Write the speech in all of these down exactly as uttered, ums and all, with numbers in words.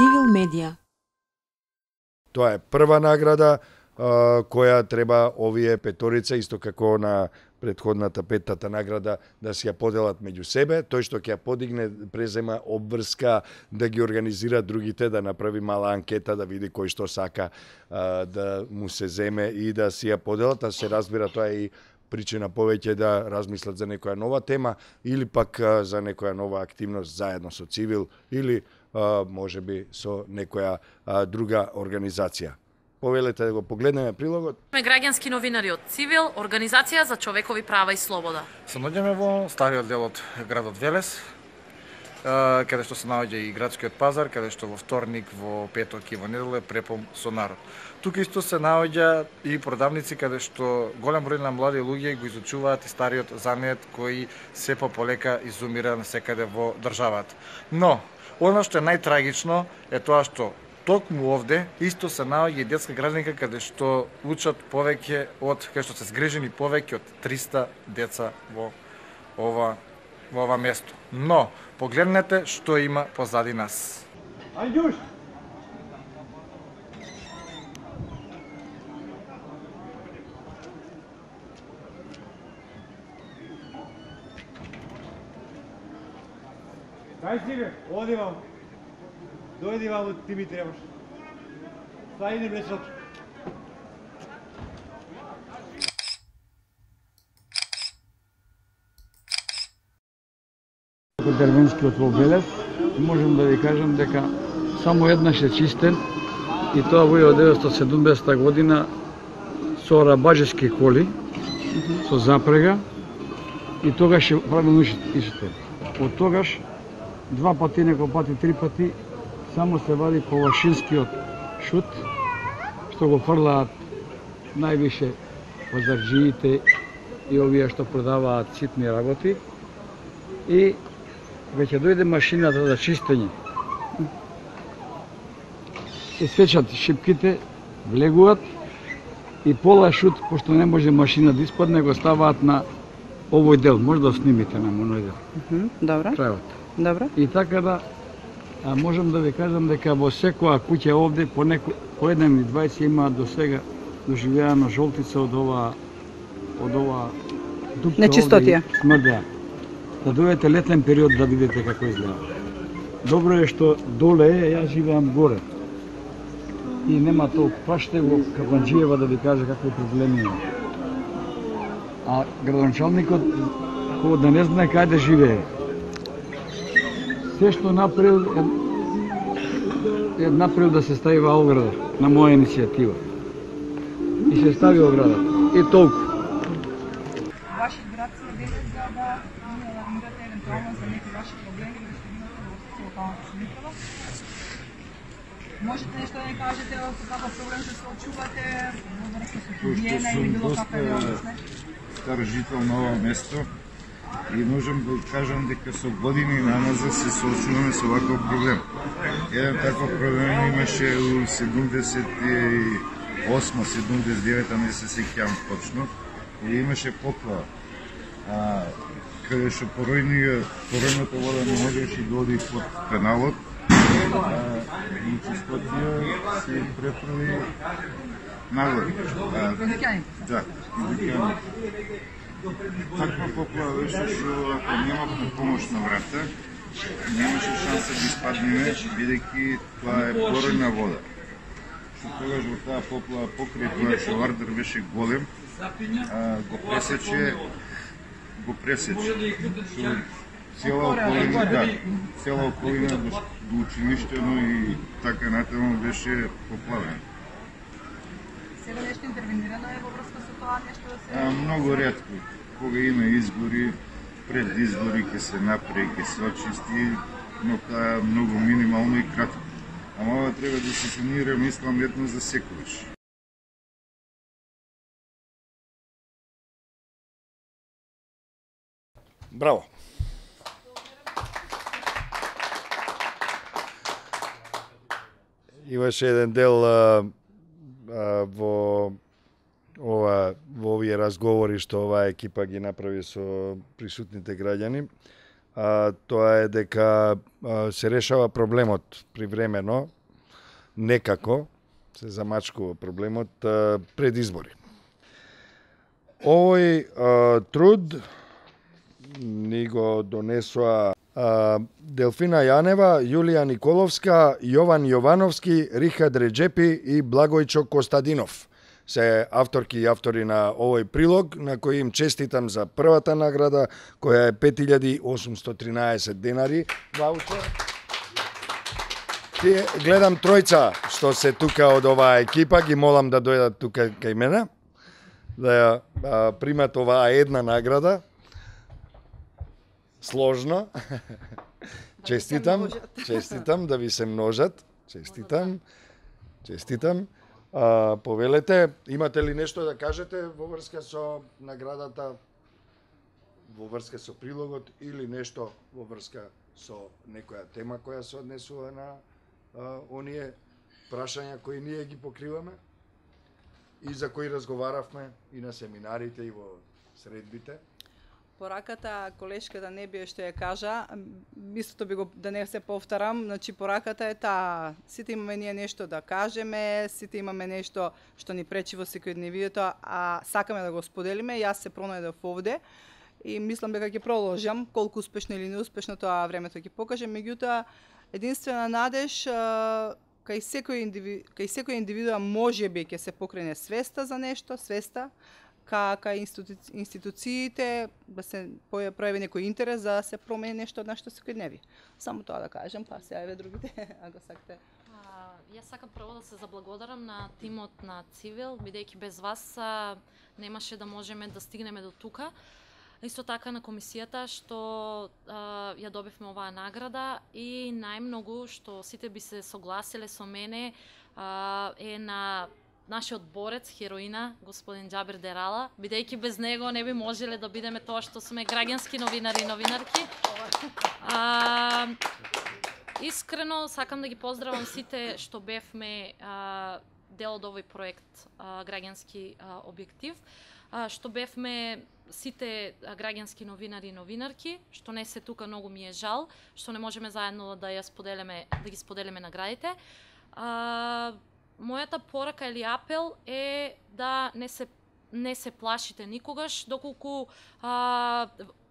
Цивил медија. Тоа е прва награда која треба овие петорица, исто како на претходната петтата награда, да си ја поделат меѓу себе. Тој што ќе ја подигне презема обврска да ги организира другите, да направи мала анкета, да види кој што сака а, да му се земе и да си ја поделат, а се разбира тоа е и причина повеќе да размислат за некоја нова тема или пак а, за некоја нова активност заедно со Цивил или а, можеби со некоја а, друга организација. Повелете да го погледнеме прилогот. Сме граѓански новинари од Цивил, Организација за човекови права и слобода. Се наоѓаме во стариот дел од градот Велес, каде што се наоѓа и градскиот пазар, каде што во вторник, во петок и во недела е препон со народ. Тука исто се наоѓа и продавници каде што голем број на млади луѓе го изучуваат и стариот занет кој се пополека изумира насекаде во државата. Но, она што е најтрагично е тоа што токму овде исто се наоѓа и детска градинка каде што учат повеќе од, каде што се згрижени повеќе од триста деца во ова во ова место. Но погледнете што има позади нас. Ајдуш. Дај си бе, оди вам. Дојди вам, ти ми требаш. Стајни месот. Терминскиот во Велес, можам да ви кажам дека само еднаш е чистен и тоа во илјада деветстотини седумдесета година со рабаџески коли, со запрега и тогаш е правилно чистен. Од тогаш два пати, некој пати, три пати само се вади ковашинскиот шут, што го фрлаат највише пазарџиите и овие што продаваат ситни работи. И веќе дојде машината за чистење. Се сечат шипките, влегуваат и пола шут, пошто не може машина да испадне, го ставаат на овој дел. Може да снимите на моној дел. Добро. Крајот. Добро. И така да а можам да ви кажам дека во секоја куќа овде по неко по еден или двајцет имаат до сега доживеана жолтица од ова од ова дупка. Нечистотија. Смрдеа. Да дојдете летен период да видите како изгледа. Добро е што доле е, јас живеам горе. И нема толку. Праште го Капанџиева да ви каже какви проблеми има. А градоначалникот кој да не знае каде живее. Се што направил е, е направил да се стави во ограда на моја иницијатива. И се стави оградата. И толку. Вашиот град се Велес за да алармирате евентуално за некои ваши проблеми кои што имате во локалната самоуправа. Можете нешто да ни кажете со каков проблем се соочувате во врска со хигиена или било каква реалност? Стар жител на ова место и можам да кажам дека со години наназад се соочуваме со ваков проблем. Еден таков проблем имаше у седумдесет и осма седумдесет и девета, не се сеќавам точно, и имаше поплава. А, каде што поројната вода не можеше да оди под каналот, и чистотија се префрли нагоре. Да, таква поплава беше што ако нема помош на врата, немаше шанса да испаднеме, бидејќи тоа е поројна вода. Што тогаш во таа поплава покрај тоа што вардар беше голем, го пресече, го пресече. Цела околина, да, цела околина до, до училиштено и така натаму беше поплавена. Сега нешто интервенирано е во врска со тоа нешто да се... А, многу ретко. Кога има избори, пред избори ќе се направи, ќе се очисти, но тоа е многу минимално и кратко. Ама ова треба да се санира, мислам, едно за секогаш. Браво! Имаше еден дел а, а, во ова во овие разговори што оваа екипа ги направи со присутните граѓани, а, тоа е дека а, се решава проблемот привремено, некако се замачкува проблемот а, пред избори. Овој а, труд ни го донесоа а, Делфина Јанева, Јулија Николовска, Јован Јовановски, Рихад Реджепи и Благојчо Костадинов. Се авторки и автори на овој прилог, на кој им честитам за првата награда, која е пет илјади осумстотини и тринаесет денари. Ваучер. Ти гледам тројца што се тука од оваа екипа, ги молам да дојдат тука кај мене, да ја а, примат оваа една награда. Сложно. Честитам, честитам да ви се множат. Честитам. Честитам. А, повелете, имате ли нешто да кажете во врска со наградата, во врска со прилогот или нешто во врска со некоја тема која се однесува на а, оние прашања кои ние ги покриваме и за кои разговаравме и на семинарите и во средбите? Пораката, колешката не бие што ја кажа, истото би го, да не се повторам, значи пораката е таа, сите имаме ние нешто да кажеме, сите имаме нешто што ни пречи во секојдневието, а сакаме да го споделиме, јас се пронајдов овде и мислам дека ќе продолжам, колку успешно или неуспешно тоа времето ќе покаже, меѓутоа единствена надеж кај секој индиви, кај секој индивидуа можеби ќе се покрене свеста за нешто, свеста, кај институци, институциите да се пројави некој интерес за да се промени нешто од нашето секојдневие. Само тоа да кажам, па се јаве другите, ако сакате. А, јас сакам прво да се заблагодарам на тимот на Цивил, бидејќи без вас а, немаше да можеме да стигнеме до тука. Исто така на комисијата што а, ја добивме оваа награда и најмногу што сите би се согласиле со мене а, е на нашиот борец, хероина, господин Џабир Дерала, бидејќи без него не би можеле да бидеме тоа што сме граѓански новинари и новинарки. А, искрено сакам да ги поздравам сите што бевме а, дел од овој проект а, граѓански а, објектив, а, што бевме сите граѓански новинари и новинарки, што не се тука, многу ми е жал, што не можеме заедно да ја споделиме, да ги споделиме наградите. А, Мојата порака или апел е да не се не се плашите никогаш, доколку а,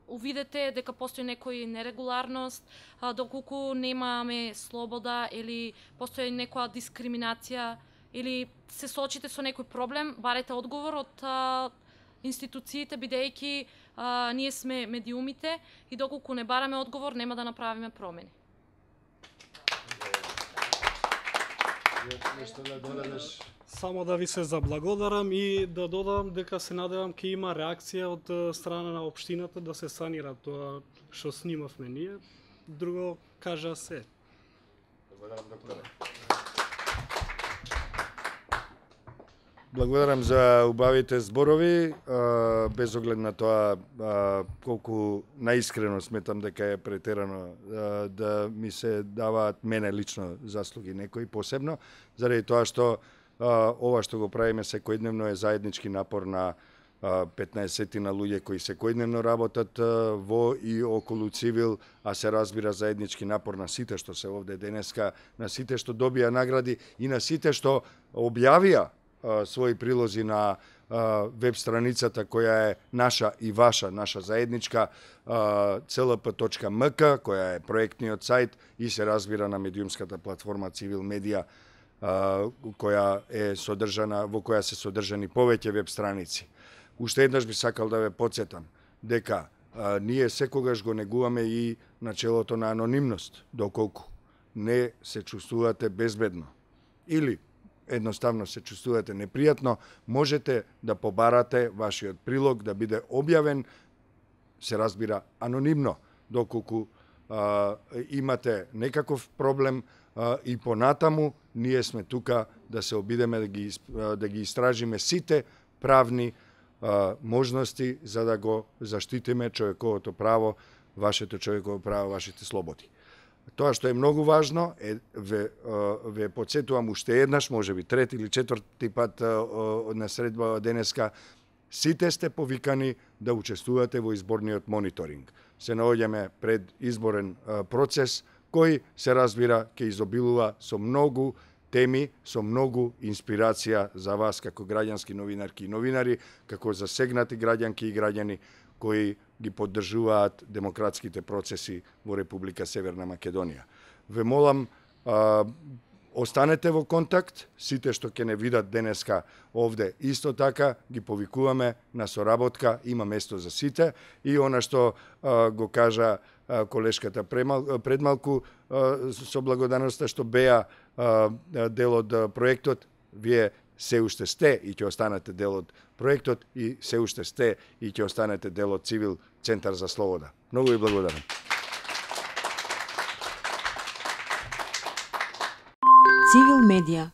увидете дека постои некој нерегуларност, а, доколку немаме слобода или постои некоја дискриминација или се соочите со некој проблем, барете одговор од а, институциите, бидејќи а, ние сме медиумите и доколку не бараме одговор, нема да направиме промени. Само да ви се заблагодарам и да додам дека се надевам ќе има реакција од страна на општината да се санира тоа што снимавме ние. Друго кажа се. Благодарам, докторе. Благодарам за убавите зборови, без оглед на тоа колку наискрено сметам дека е претерано да ми се даваат мене лично заслуги некои посебно, заради тоа што ова што го правиме секојдневно е заеднички напор на петнаесет на луѓе кои секојдневно работат во и околу Цивил, а се разбира заеднички напор на сите што се овде денеска, на сите што добија награди и на сите што објавија своји прилози на веб страницата која е наша и ваша, наша заедничка це ел пе точка ем ка, која е проектниот сајт и се разбира на медиумската платформа Цивил Медија, која е содржана, во која се содржани повеќе веб страници. Уште еднаш би сакал да ве потсетам дека а, ние секогаш го негуваме и начелото на анонимност, доколку не се чувствувате безбедно или едноставно се чувствувате непријатно, можете да побарате вашиот прилог да биде објавен, се разбира, анонимно, доколку а, имате некаков проблем а, и понатаму, ние сме тука да се обидеме да ги, да ги истражиме сите правни а, можности за да го заштитиме човековото право, вашето човеково право, вашите слободи. Тоа што е многу важно, е, ве, ве подсетувам уште еднаш, може би трети или четврти пат на средба денеска, сите сте повикани да учествувате во изборниот мониторинг. се наоѓаме пред изборен процес кој се разбира ќе изобилува со многу теми, со многу инспирација за вас како граѓански новинарки и новинари, како засегнати граѓанки и граѓани кои ги поддржуваат демократските процеси во Република Северна Македонија. Ве молам, а, останете во контакт, сите што ќе не видат денеска овде, исто така ги повикуваме на соработка, има место за сите и она што а, го кажа а, колешката премал, предмалку, а, со благодарноста што беа а, дел од проектот, вие се уште сте и ќе останете дел од проектот и се уште сте и ќе останете дел од Цивил Центар за слобода. Многу ви благодарам. Цивил медија